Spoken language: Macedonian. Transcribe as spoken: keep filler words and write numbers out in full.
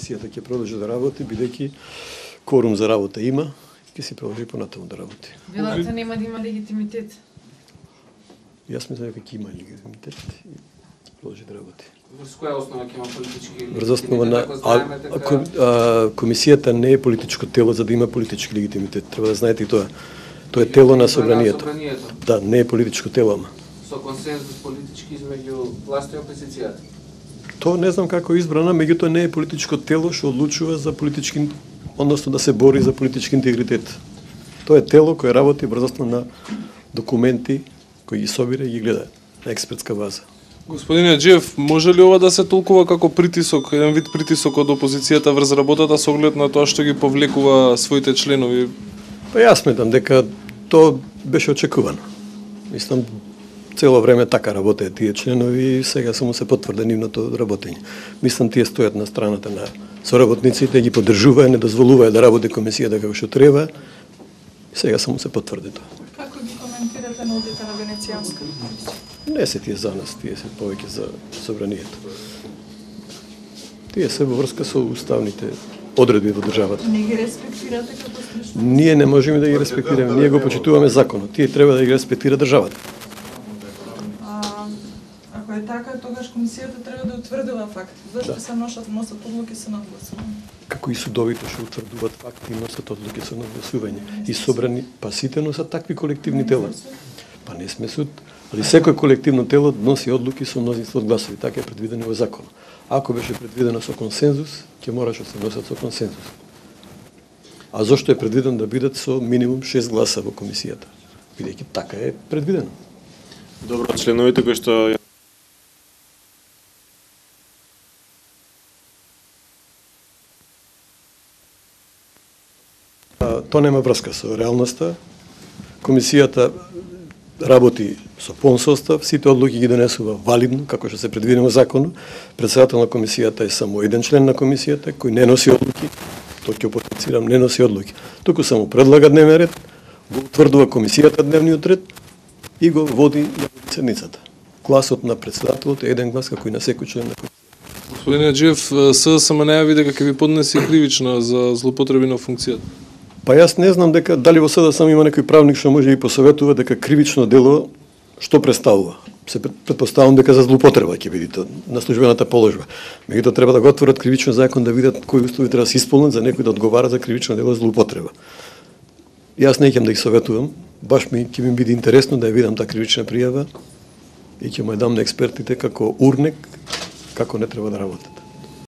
комисијата ќе продолжи да работи, бидејќи кворум за работа има, ќе си продолжи понатаму да работи. Велата нема да има легитимитет. Јас мислам дека ќе има легитимитет и ќе продолжи да работи. Врз која основа ќе има политички легитимитет? Врз основа на а, а, а, комисијата не е политичко тело за да има политички легитимитет. Треба да знаете и тоа. Тоа е тело на собранието. Да, не е политичко тело, ама. Со консензус политички измеѓу власта и опозицијата. Тоа не знам како е избрана, меѓутоа не е политичко тело што одлучува за политички, односно да се бори за политички интегритет. Тоа е тело кое работи врз основа на документи кои ги собира и ги гледа на експертска база. Господине Аџиев, може ли ова да се толкува како притисок, еден вид притисок од опозицијата врз работата со оглед на тоа што ги повлекува своите членови? Па јас сметам дека тоа беше очекувано. Мислам, цело време така работеа тие членови и сега само се потврди нивното работење. Мислам, тие стојат на страната на соработниците, ги поддржуваа, не дозволуваа да работи комисијата како што треба. Сега само се потврди тоа. Како ги коментирате на одите на Венецијанска? Не се тие за нас, тие се повеќе за собранието. Тие се во врска со уставните одредби во државата. Не ги респектирате како слушно? Ние не можеме да ги респектираме, ние го почитуваме законот. Тие треба да ги респектира државата. А, ако е така, тогаш комисијата треба да утврдила факт. Зашто да се носат носат одлуки со надгласување? Како и судовите што утврдуваат факти и носат одлуки со надгласување. И собрани, па сите носат такви колективни тела. Па не сме суд, али секој колективно тело носи одлуки со мнозинство од гласови, така е предвидено во законот. Ако беше предвидено со консензус, ќе мораше да се носат со консензус. А зошто е предвидено да бидат со минимум шест гласа во комисијата? Бидејќи така е предвидено. Добро, членовите кои што Тоа нема врска со реалноста. Комисијата работи со полн состав, сите одлуки ги донесува валидно, како што се предвидено во законот. Председател на комисијата е само еден член на комисијата кој не носи одлуки. Тоа ќе потенцирам, не носи одлуки. Туку само предлага дневен ред, го утврдува комисијата дневниот ред и го води ја седницата. Гласот на председателот е еден глас како и на секој член на комисијата. Господине Аџиев, СДСМ најави дека ќе ви поднесе кривична за злоупотреби на функцијата. Па јас не знам дека дали во СДСМ има некој правник што може да ги посоветува дека кривично дело што представува. Се претпоставам дека за злоупотреба ќе биде тоа на службената положба. Меѓутоа треба да го отворат кривичен закон да видат кои услови треба да се исполнат за некој да одговара за кривично дело злоупотреба. Јас не ќе да ги советувам, баш ми ќе ми биде интересно да ја видам таа кривична пријава и ќе му ја дам на експертите како урнек како не треба да работат.